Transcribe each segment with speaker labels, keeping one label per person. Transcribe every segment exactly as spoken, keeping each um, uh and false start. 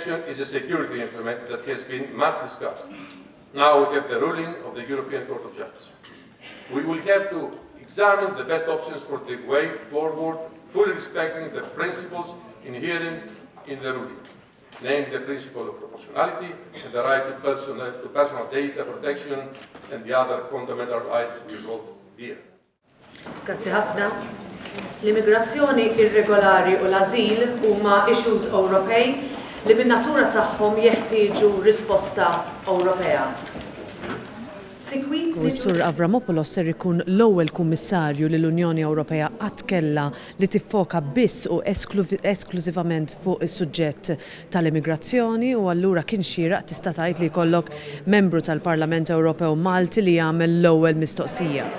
Speaker 1: Protection is a security instrument that has been much discussed. Now we have the ruling of the European Court of Justice. We will have to examine the best options for the way forward, fully respecting the principles inherent in the ruling, namely the principle of proportionality and the right to personal, to personal data protection and the other fundamental rights we hold dear.
Speaker 2: Grazzi ħafna. L-immigrazzjoni irregolari u l-azil huma issues Ewropej li min-natura tagħhom jeħtieġu risposta Ewropea. Sikwit
Speaker 3: U s-Sur Avramopoulos ser ikun l-ewwel kummissarju li l-Unjoni Ewropea qatt kellha li tiffoka biss u esklużivament fuq is-suġġett tal-immigrazzjoni, u allura kien xieraq, tista' tgħid, li jkollok membru tal-Parlament Ewropew Malti li jagħmel l-ewwel mistoqsija.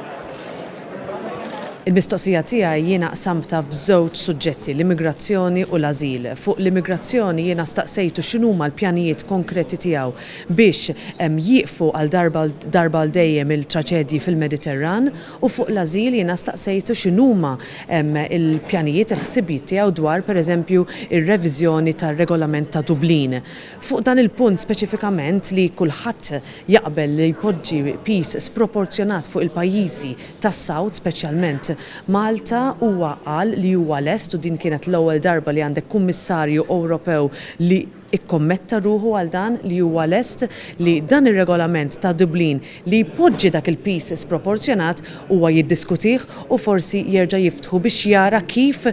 Speaker 3: Il-mistoqsija tiegħi jiena qsamtha f'żewġ suġġetti, l-immigrazzjoni u l-ażil. Fuq l-immigrazzjoni jiena staqsejtu x'inhuma l-pjanijiet konkreti tiegħu biex jieqfu għal darba darba għal dejjem il-traġedji fil-Mediterran, u fuq l-ażil jiena staqsejtu x'inhuma il-pjanijiet, il-ħsibijiet tiegħu dwar, pereżempju, ir-reviżjoni tar-regolament ta' Dublin. Fuq dan il-punt speċifikament, li kulħadd jaqbel li jpoġġi piż sproporzjonat fuq il-pajjiżi tas-South, speċjalment Malta, huwa qal li huwa lest, u din kienet l-ewwel darba li għandek kummissarju Ewropew li ikkommetta ruħu għal dan, li huwa lest li dan ir-regolament ta' Dublin li jpoġġi dak il-piż sproporzjonat huwa jiddiskutih u forsi jerġa' jiftħu biex jara kif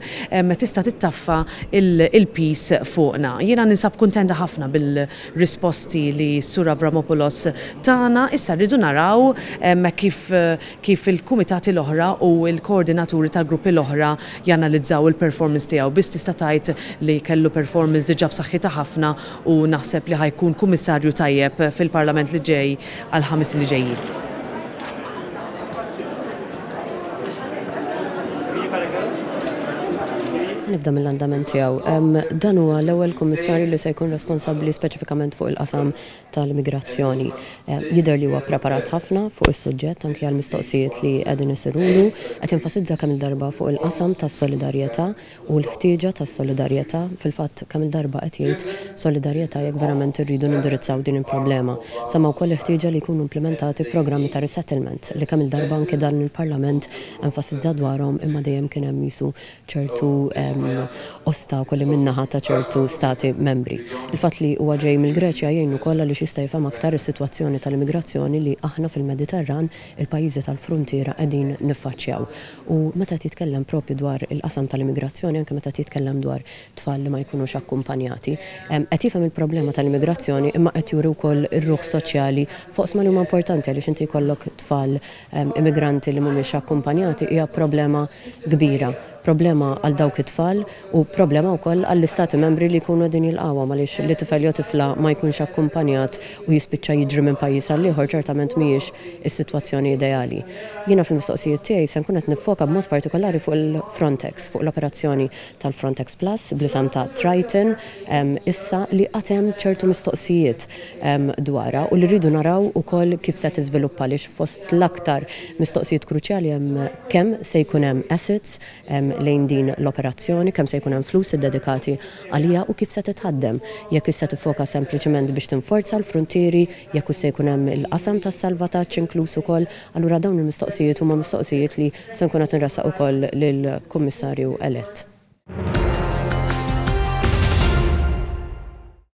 Speaker 3: tista' tittaffa il-piż fuqna. Jiena ninsab kuntenta ħafna bil-risposti li Sur Avramopoulos tana. Issa rridu naraw kif kif il-kumitati l-oħra u l-koordinaturi tal-gruppi l-oħra janalizzaw il-performance tiegħu. Biss tista' tgħid li kellu performance diġà b'saħħitha ħafna u naħseb li ħa jkun kummissarju tajjeb fil-Parlament li ġej għal ħames li ġejjin.
Speaker 4: Nibda mill-andament tiegħu. Dan huwa l-ewwel kummissarju li se jkun responsabbli speċifikament fuq il-qasam tal-immigrazzjoni. Jidher li huwa preparat ħafna fuq is-suġġett, anke għal mistoqsijiet li qegħdin isirulu, qed jenfasizza kemm il-darba fuq il-qasam tas-solidarjetà u l-ħtieġa tas-solidarjetà. Fil-fatt, kemm il-darba qed jgħid solidarjetà jekk verament irridu nindirizzaw din il-problema. Semma wkoll il-ħtieġa li jkunu implementati programmi ta' resettlement li kemm il-darba anke dan il-Parlament enfasizza dwarhom, imma dejjem kien hemm jisu ċertu ostakoli min-naħa ta' ċertu stati membri. Il-fatt li huwa ġej mill-Greċja jgħin ukoll għaliex jista' jifhem aktar is-sitwazzjoni tal-immigrazzjoni li aħna fil-Mediterran, il-pajjiżi tal-frontiera, qegħdin niffaċċjaw. U meta titkellem propju dwar il-qasam tal-immigrazzjoni, anke meta titkellem dwar tfal li ma jkunux akkumpanjati, qed jifhem il-problema tal-immigrazzjoni, imma qed juri wkoll ir-ruħ soċjali f'oqsma li huma importanti, għaliex inti jkollok tfal immigranti li mhumiex akkumpanjati hija problema kbira. Problema għal dawk it-tfal u problema wkoll għall-istati membri li jkunu din jilqawha, għaliex li tifel jew tifla ma jkunx akkumpanjat u jispiċċa jiġri minn pajjiż għal ieħor ċertament mhijiex is-sitwazzjoni ideali. Jiena fil-mistoqsijiet tiegħi se nkun qed niffoka b'mod partikolari fuq il-Frontex, fuq l-operazzjoni tal-Frontex Plus bl-isem ta' Triton, issa li għad hemm ċertu mistoqsijiet dwarha u li rridu naraw ukoll kif se tiżviluppa, għaliex fost l-aktar mistoqsijiet kruċjali hemm kemm se jkun hemm assets lejn din l-operazzjoni, kemm se jkun hemm flus iddedikati għalija u kif se titħaddem. Jekk issa tifoka sempliċement biex tinforza l-frontieri, jekk se jkun hemm il-qasam tas-salvataġġ inkluż ukoll, allura dawn il-mistoqsijiet huma mistoqsijiet li se nkun qed inressaq ukoll lill-Kummissarju elett.